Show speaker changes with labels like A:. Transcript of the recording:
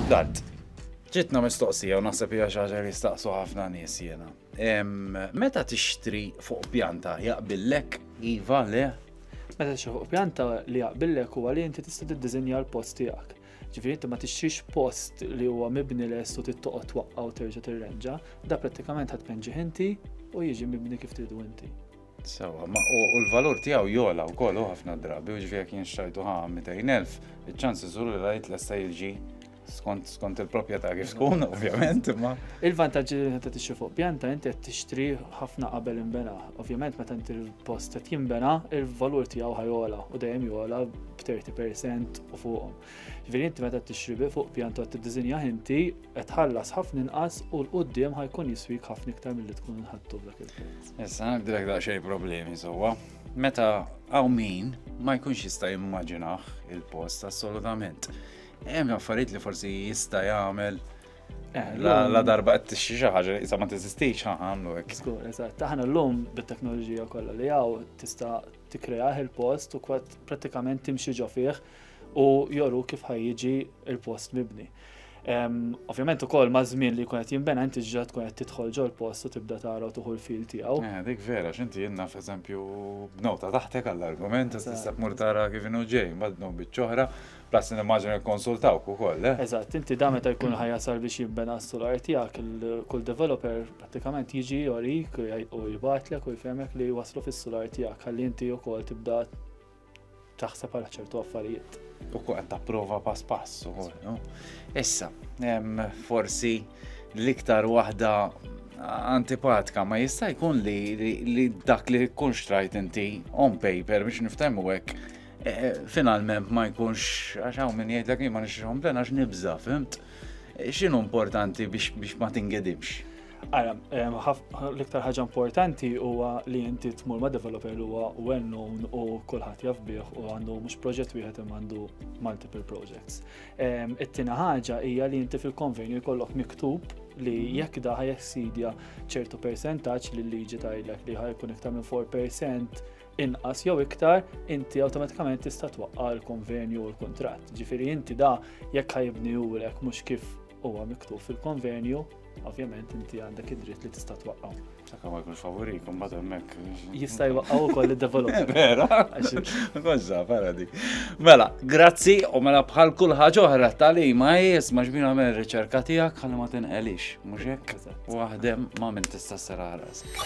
A: Dant, ġitna mistoqsija u naħseb hija xi ħaġa li jistaqsu ħafna nies jiena. Meta tixtri fuq pjanta jaqbillek iva le?
B: Meta tixtri fuq pjanta li jaqbillek huwa li inti tista' tiddiżinja l-post tiegħek. Ġifieri inti ma tixtrix post li huwa mibni lest u trid toqgħod twaqqa' u terġa' tirrenġa, da prattikament ħadd tpenġih inti u jiġi mibni kif tridu inti.
A: Sewa, ma u l-valur tiegħu jola wkoll u ħafna drabi, u ġifieri jekk jien xtrajtu ħa 200,000, iċ-ċansi żur li rajt lesta jiġi skont skont il-proprjetà kif tkun, ovvjament, imma.
B: Il-vantaġġi li meta tixtri fuq pjanta inti qed tixtri ħafna qabel inbena. Ovvjament meta inti l-post qed jinbena, il-valur tiegħu ħajola u dejjem jola b'30% u fuqhom. Ġifieri inti meta tixtri fuq pjanta qed tiddiżinjah inti qed tħallas ħafna inqas u 'l quddiem ħa jkun jiswik ħafna iktar milli tkun ħadtu f'dak il-prezz.
A: Issa nibdilek daqsxejn problemi sewwa. Meta hawn min ma jkunx jista' jimmaġinah il-post assolutament. Hemm affarijiet li forsi jista' jagħmel eh, la darba qed tixxi xi ħaġa li ma teżistix għamlu hekk.
B: Żgur, eżatt. Aħna llum bit-teknoloġija kollha li hawn tista' tikkreah il-post u prattikament timxi ġo fih u joru kif ħajjiġi il-post mibni. Ovvjament ukoll ma' żmien li jkun qed jinbena inti ġa tkun qed tidħol ġol post u tibda tara u tuħu l-fil tiegħu.
A: Eh, dik vera, x'inti jien naf eżempju b'nota taħtek għall-argument, tista' tmur tara kif inhu ġej, mbagħad b'nota biċċ'oħra, plus nimmaġina jikkonsultawk ukoll, eh?
B: Eżatt, inti da meta jkun ħajasal biex jinbena s-solar tiegħek, kull developer prattikament jiġi jorik u jibgħatlek u jfehmek li waslu fis-solar tiegħek ħalli inti wkoll tibda taħseb għal ċertu affarijiet.
A: U qed tapprova pass pass ukoll, no? Issa, forsi l-iktar waħda antipatika ma jista' jkun li, li, li dak li jkun xtrajt inti on paper biex niftehmu hekk e, e, finalment ma jkunx għax hawn min jgħidlek ma nixtrihom plen għax nibża, fimt? E, x'inhu importanti biex, biex ma tingedimx?
B: Ara, l-iktar ħaġa importanti huwa li inti tmur ma' developer li huwa well known u kulħadd jaf bih u għandu mhux proġett wieħed imma għandu multiple projects. It-tieni ħaġa hija li inti fil-konvenju jkollok miktub li jekk da ħajjessidja ċertu persentaġġ li l-liġi tgħidlek li ħajkun iktar minn 4% inqas jew iktar, inti awtomatikament tista' twaqqa' l-konvenju u l-kuntratt. Ġifieri inti da jekk ħajibnihulek mhux kif huwa miktub fil-konvenju, ovvjament inti għandek id-dritt li tista' twaqqgħu.
A: Sakemm ma jkunx favorik, mbagħad hemmhekk.
B: Jista' jwaqqgħu ukoll id-developer.
A: Vera? Kolla, para dik. Mela, grazzi u mela bħal kull ħaġa oħra tal-ima jisma' xbin għamel riċerka tiegħek ħalli ma tinqelix, mhux hekk? Waħdem ma' min tista' sera rasek.